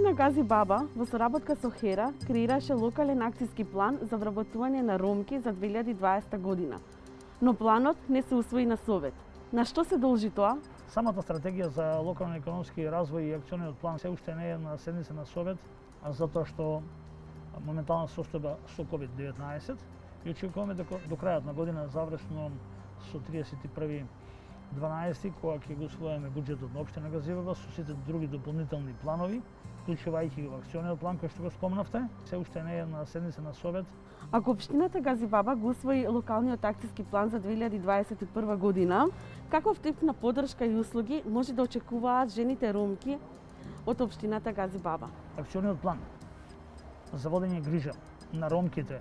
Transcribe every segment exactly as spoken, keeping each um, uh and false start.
Општина Гази Баба во соработка со Хера креираше локален акцијски план за вработување на ромки за две илјади и дваесета година. Но планот не се усвои на совет. На што се должи тоа? Самата стратегија за локален економски развој и акциониот план се уште не е на седница на совет, затоа што моментална состојба со ковид деветнаесет и очекуваме дека до крајот на година, завршно со триесет и први дванаесети, кога ќе го усвоиме буџетот на општина Гази Баба со сите други дополнителни планови, вклучувајќи го акциониот план кој што го спомнавте, се уште не е на седница на совет. Ако општината Гази Баба го усвои локалниот акцијски план за две илјади дваесет и прва година, каков тип на поддршка и услуги може да очекуваат жените ромки од општината Гази Баба? Акциониот план за водење грижа на ромките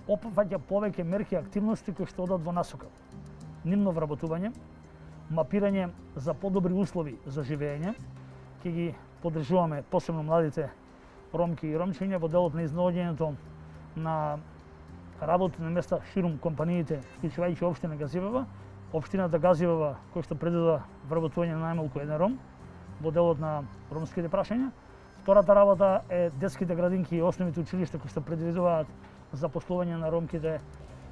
опфаќа повеќе мерки и активности кои што одат во насока нивно вработување, мапирање за подобри услови за живење, ќе ги поддржуваме посебно младите ромки и ромчиња во делот на изнаоѓањето на работни места ширум компаниите, вклучувајќи општина Гази Баба, општината Гази Баба кој што предвидува вработување на најмалку еден ром во делот на ромските прашања. Втората работа е детските градинки и основните училишта кои што предвидуваат запослување на ромките,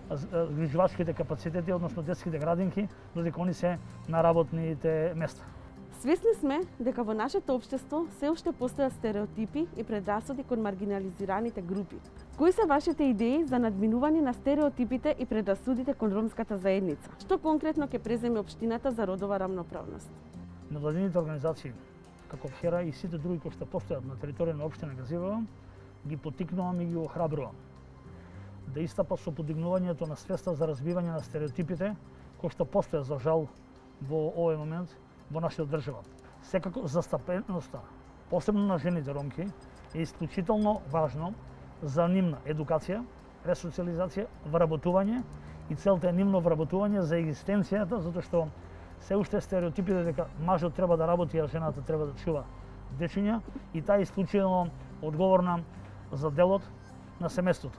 грижувачките капацитети, односно детските градинки, додека они се на работните места. Свесни сме дека во нашето општество се уште постојат стереотипи и предрасуди кон маргинализираните групи. Кои се вашите идеи за надминување на стереотипите и предрасудите кон ромската заедница? Што конкретно ќе преземе општината за родова рамноправност? Невладините организации, како Хера и сите други кои што постојат на територија на општина Гази Баба, ги поттикнувам и ги охрабрувам да истапат со подигнувањето на свеста за разбивање на стереотипите кои што постојат за жал во овој момент во нашата држава. Секако застапеноста, посебно на жените ромки, е исклучително важно за нивна едукација, ресоциализација, вработување и целта е нивно вработување за екзистенцијата, затоа што се уште стереотипите дека мажот треба да работи, а жената треба да чува дечиња, и таа е исклучително одговорна за делот на семејството.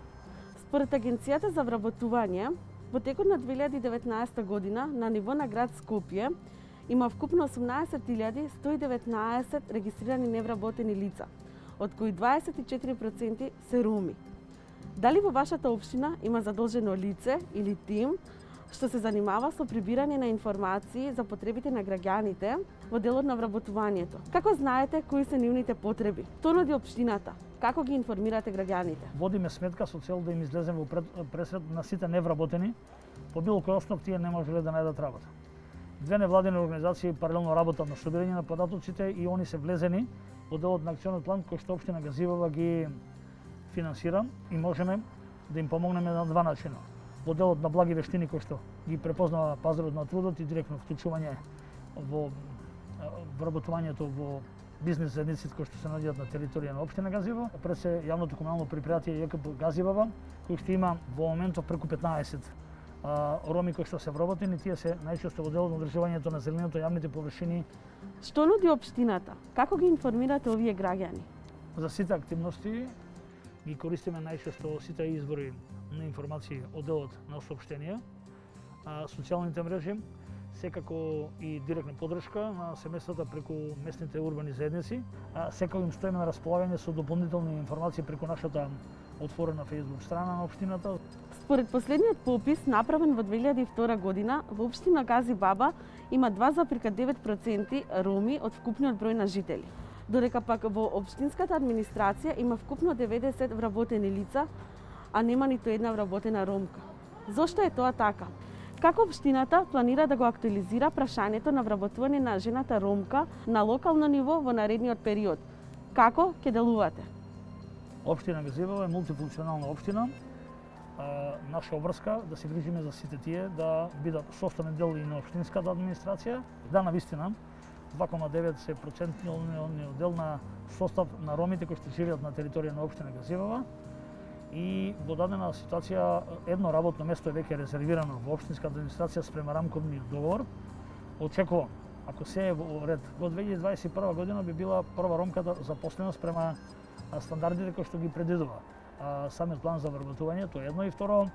Според Агенцијата за вработување, во текот на две илјади и деветнаесета година на ниво на град Скопје има вкупно осумнаесет илјади сто и деветнаесет регистрирани невработени лица, од кои дваесет и четири проценти се роми. Дали во вашата општина има задолжено лице или тим што се занимава со прибирање на информации за потребите на граѓаните во делот на вработувањето? Како знаете кои се нивните потреби? Што нуди општината? Како ги информирате граѓаните? Водиме сметка со цел да им излеземе во пресред на сите невработени, по било кој основ тие не можеле да најдат работа. Две невладени организации паралелно работат на собирање на податоците и они се влезени во делот на акционот план кој што општина Гази Баба ги финансира и можеме да им помогнеме на два начина. Во делот на благи вештини кои што ги препознава пазарот на трудот и директно вклучување во вработувањето во бизнес заедниците кои што се наоѓаат на територија на општина Гази Баба, пред се јавното комунално предпријатие ЈКП Гази Баба, кој што има во моментов преку петнаесет а, роми кои што се вработени, тие се најчесто во делот на одржувањето на зелениното јавните површини. Што нуди општината? Како ги информирате овие граѓани? За сите активности ги користиме најчесто сите извори на информации од делот на соопштенија, социјалните мрежи, секако и директна поддршка на семејствата преку местните урбани заедници. Секако им стоиме на располагање со дополнителни информации преку нашата отворена Facebook страна на општината. Според последниот попис направен во две илјади и втора година, во општина Гази Баба има два зарез девет проценти роми од вкупниот број на жители, додека пак во општинската администрација има вкупно деветдесет вработени лица, а нема ниту една вработена ромка. Зошто е тоа така? Како општината планира да го актуализира прашањето на вработување на жената ромка на локално ниво во наредниот период? Како ќе делувате? Општина Гази Баба е мултифункционална општина. Наша обврска да се грижиме за сите тие да бидат составен дел и на општинската администрација. Да, навистина, два кома девет се процентниот дел на состав на ромите кои што живеат на територија на општина Гази Баба. И во дадена ситуација едно работно место е веќе резервирано во општинската администрација спрема рамковниот договор. Очекувам, ако се е во ред, во две илјади дваесет и прва година би била прва ромка запослена спрема стандардите кои што ги предвидува самиот план за вработување, тоа е едно, и второ,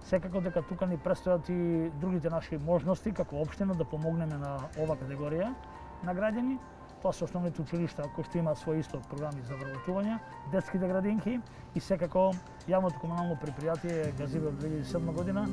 секако дека тука ни престојат и другите наши можности како општина да помогнеме на ова категорија на граѓани. Тоа се основните училишта кои што имаат свои исто програми за вработување, детските градинки и секако јавното комунално предпријатие Газиве од две илјади и седма година.